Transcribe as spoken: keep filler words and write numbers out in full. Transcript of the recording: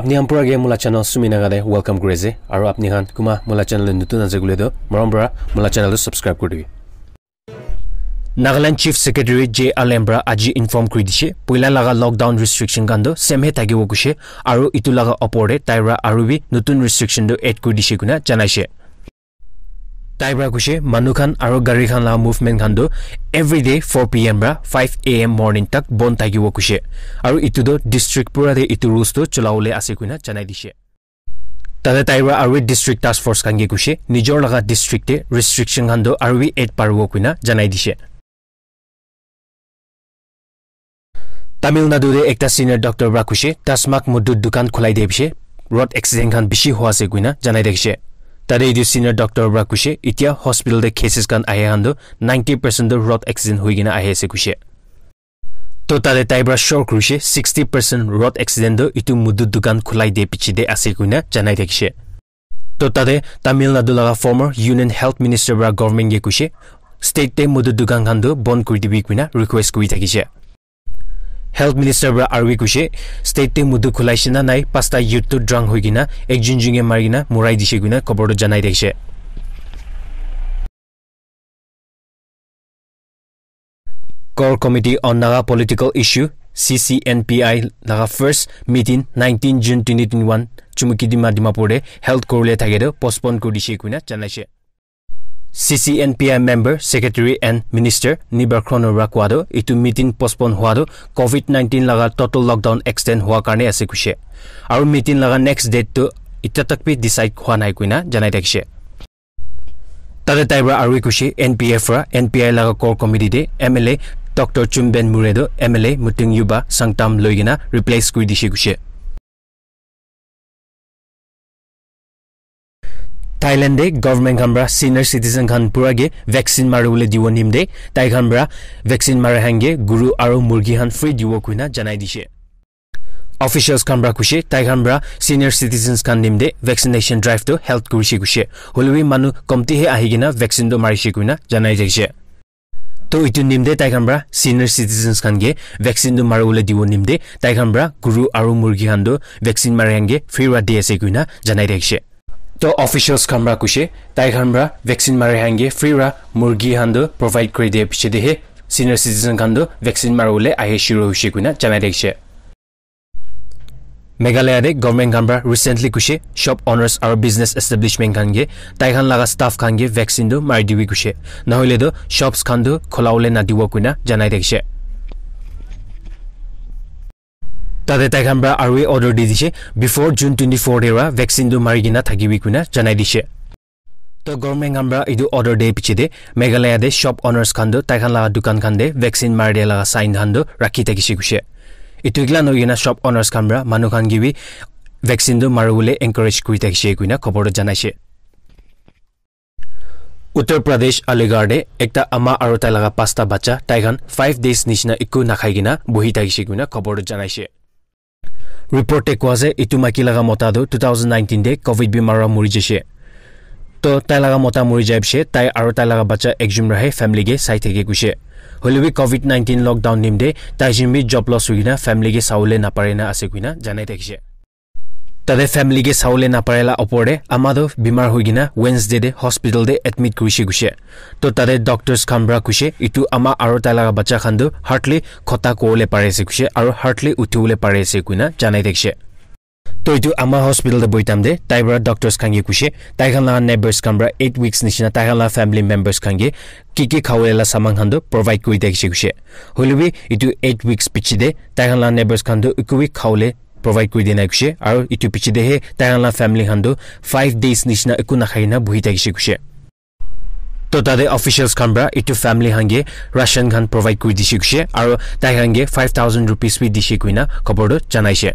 Apni khan pura ke mola channel Sumi Naga te welcome kuri ase. Aru apni khan kuma mola channel te nutun ase koile toh, morom para mola channel tu subscribe kuri dibi. Nagaland Chief Secretary J Alem para aji inform kuri dishe, poila laga lockdown restriction khan toh same he thakibo kushe, aru itu laga opor te tai para aru bi nutun restriction toh add kuri dishe kuina janaishe. Tai para kushe, manu khan aru gari khan laga movement khan toh everyday four P M para five A M morning tak bon thakibo kushe. Aru itu toh district pura te itu rules toh cholawole ase kuina janai dishe. Tate tai para aru district task force khan ke kushe, nijor laga district te restriction khan toh aru bi add paribo kuina janai dishe. Tamil Nadu te ekta senior doctor para kushe, Tasmak mudu dukan khulai de bishe, road accident khan bishi hua ase kuina janai thakishe. Tate etu senior doctor para kushe, itia hospital te cases khan ahe khan toh ninety percent toh road accident hoi kena ahi ase kushe. To tate tai para sure kurishe, sixty percent road accident toh etu mudu dukan khulai de piche de ase kuina janai thakishe. To tate Tamil Nadu laga former Union Health Minister para government ke kushe, state te mudu dukan khan toh bon kuri dibi kuina request kuri thakishe. Health Minister para aru bi kushe, state te mudu khulaishe na nai, pasta youth toh drunk hoi kena ekjun jun ke mari kena murai dishe kuina khobor toh janai thakishe. Core Committee on Naga Political Issue, C C N P I, laga first meeting nineteen June twenty twenty-one Chumukidima Dimapur te held kuribole thake toh postpone kuri dishe kuina janaishe. C C N P I member, secretary and minister Nibar Khrono para kowa toh etu meeting postpone hua toh covid nineteen laga total lockdown extend hua karne ase kushe. Aru meeting laga next date toh itya tak bi decide hua nai kuina janai thakishe. Tate tai para aru kushe N P F para N P I laga core committee te M L A Doctor Chumben Murray toh M L A Muting Yuba Sangtam loi kena replace kuri dishe kushe. Thailand te government khan para senior citizen khan pura ke vaccine mari bole dibo nimte tai khan para vaccine mari khan ke guru aru murgi khan free dibo kuina janai dishe. Officials khan para kushe, tai khan para senior citizens khan nimte vaccination drive toh held kurishe kushe. Hoilebi manu komti he ahi kena vaccine toh marishe kuina janai thakishe. To etu nimte tai khan para senior citizens khan ke vaccine toh maribole dibo nimte tai khan para guru aru murgi khan toh vaccine mari khan ke free para di ase kuina janai thakishe. To officials khan para kushe, tai khan para vaccine mari khan ke free para murgi khan toh provide kuri de piche de he senior citizen khan toh vaccine maribole ahi shuru hoishe kuina janai thakishe. Meghalaya te government khan para recently kushe shop owners aru business establishment khan ke tai khan laga staff khan ke vaccine toh mari dibi kushe. Nahoile toh shops khan toh khulabole nadibo kuina janai thakishe. Tate tai khan para aru order di dishe, before June twenty-four te para vaccine toh mari kena thakibi kuina janai dishe. To government khan para etu order de piche de Meghalaya te shop owners khan toh tai khan laga dukan khan te vaccine mari dia laga sign khan toh rakhi thakishe kushe. Etu ekla nohoi kena shop owners khan para manu khan ke bi vaccine toh maribole encourage kuri thakishe kuina khobor toh janaishe. Uttar Pradesh Aligarh te ekta ama aru tai laga pasta bacha tai khan five days nishina eku nakhai kena bohi thakishe kuina khobor toh janaishe. Report te kowa ase etu maiki laga mota toh two thousand nineteen te covid bimar para muri jaishe. To tai laga mota muri jai pishe tai aru tai laga bacha ekjun para he family ke sai thake kushe. Hoilebi covid nineteen lockdown nimte tai jun bi job loss hoi kena family ke sabole napare na ase kuina janai thakishe. Tate family ke sabole napare la opor te ama toh bimar hoi kena Wednesday te hospital te admit kurishe kushe. To tate doctors khan para kushe etu ama aru tai laga bacha khan toh hardly khota kobole pari ase kushe aru hardly uthibole pari ase kuina janai thakishe. To etu ama hospital te bohi time te tai para doctors khan ke kushe tai khan laga neighbors khan para eight weeks nishina tai khan laga family members khan ke ki ki khabole la saman khan toh provide kuri thakishe kushe. Hoilebi etu eight weeks piche te tai khan laga neighbors khan toh eku bi khabole provide kuri dia nai kushe aru etu piche te he tai khan laga family khan toh five days nishina eku nakhai kena bohi thakishe kushe. To tate officials khan para etu family khan ke ration khan provide kuri dishe kushe aru tai khan ke five thousand rupees bi dishe kuina khobor toh janaishe.